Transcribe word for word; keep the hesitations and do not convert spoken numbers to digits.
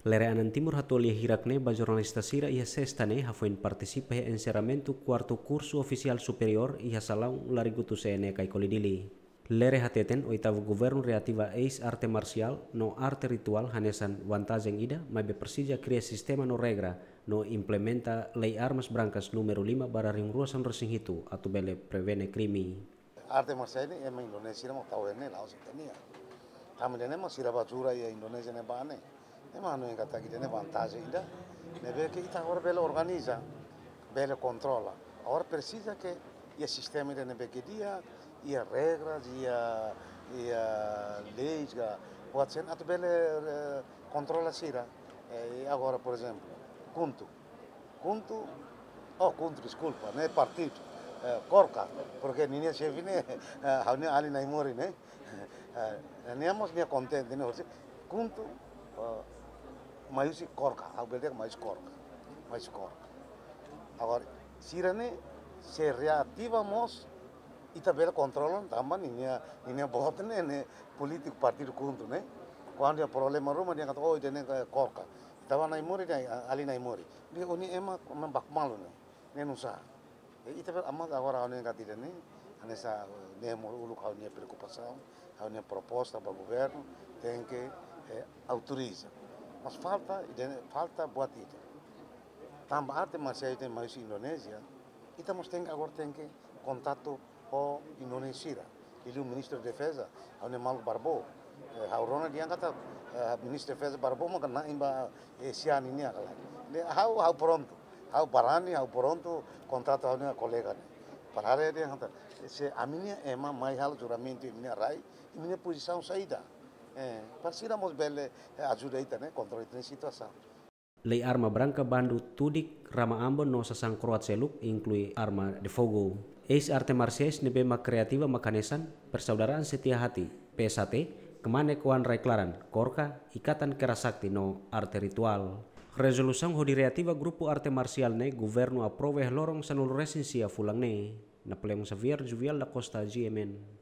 Lere Anan Timur hato'o lia hirak ne'e ba jornalista sira iha Sesta ne'e hafoin partisipa iha enserramentu kuartu kursu ofisiál superiór iha salaun Larigutu C N E Caicoli Dili. Lere hateten oitavu governu reativa eis arte marsiál no arte rituál hanesan vantajen ida, maibé presiza kria sistema no regra no implementa Lei Armas Brankas númeru lima barra rihun rua sanulu-resin-hitu atu bele prevene krime. Arte marsiál ne'e ema Indonézia mós tau ne'e la'ós ita-nia. Tanba ne'e ema sira bá jura iha Indonézia ne'ebá ne'e. Ema hanoin katak ida-ne'e vantajen ida. Ne'ebé ke ita agora bele organiza, bele kontrola. Agora presiza ke iha sistema ida ne'ebé ke di'ak, iha regras, iha, iha leis ka, buat sira atu bele, eh, kontrola sira. Eh, agora, por ezemplu, KHUNTO. KHUNTO, oh, KHUNTO, deskulpa, ne'e partidu, eh, KORKA, porke ninia xefe ne'e, eh, ha'u-nia alin Naimori ne'e. Eh, nia mós nia kontente ne'e, hosi KHUNTO, eh, mai husi KORKA, ha'u bele dehan mai husi KORKA, mai husi KORKA. Agora, sira ne'e, se reativa mós, ita bele kontrola, tanba ninia, ninia boot ne'e, ne'e polítiku partidu KHUNTO ne'e. Kuandu iha problema ruma, dehan katak, oh, ida-ne'e, eh, KORKA. Ita bá Naimori, dehan, ah, alin Naimori. Dehan, oh, ne'e ema, ema baku malu ne'e. Ne'e nusá. Eh, ita bele, amat agora ha'u-nia katak ida-ne'e, hanesan, eh, ne'e mós uluk ha'u-nia preokupasaun, ha'u-nia proposta ba governu, tenke, eh, autoriza. Mas falta, ida-ne'e, falta buat ida. Tanba arte marsiál ita mai husi Indonézia, ita mós tenke, agora tenke kontatu ho Indonézia sira. Liuliu Ministru Defeza, ha'u-nia maluk Barbo. Eh, ha'u rona dehan katak, eh, Ministru Defeza Barbo maka na'in ba, eh, ASEAN nian ka lae. Ne'e ha'u, ha'u prontu. Ha'u barani, ha'u prontu kontratu ha'u-nia kolega ne'e. Para haree dehan katak, se ami-nia ema mai halo juramentu iha imi-nia rai, imi-nia pozisaun saida. Eh, para sira mós bele, eh, ajuda ita ne'e, kontrola ita-nia situasaun. Lei Arma Branka bandu tudik rama ambon no sasán kro'at seluk, inklui arma de fogo. Eis arte marsiais ne'ebé mak reativa mak hanesan Persaudaraan Setia Hati, P S H T, Kmanek Oan Rai Klaran, KORKA, Ikatan Kera Sakti no arte rituál. Rezolusaun hodi reativa grupu arte marsiál ne'e governu aprova iha loron sanulu-resin-sia fulan ne'e. Napoleão Xavier, Juvial da Costa, G M N.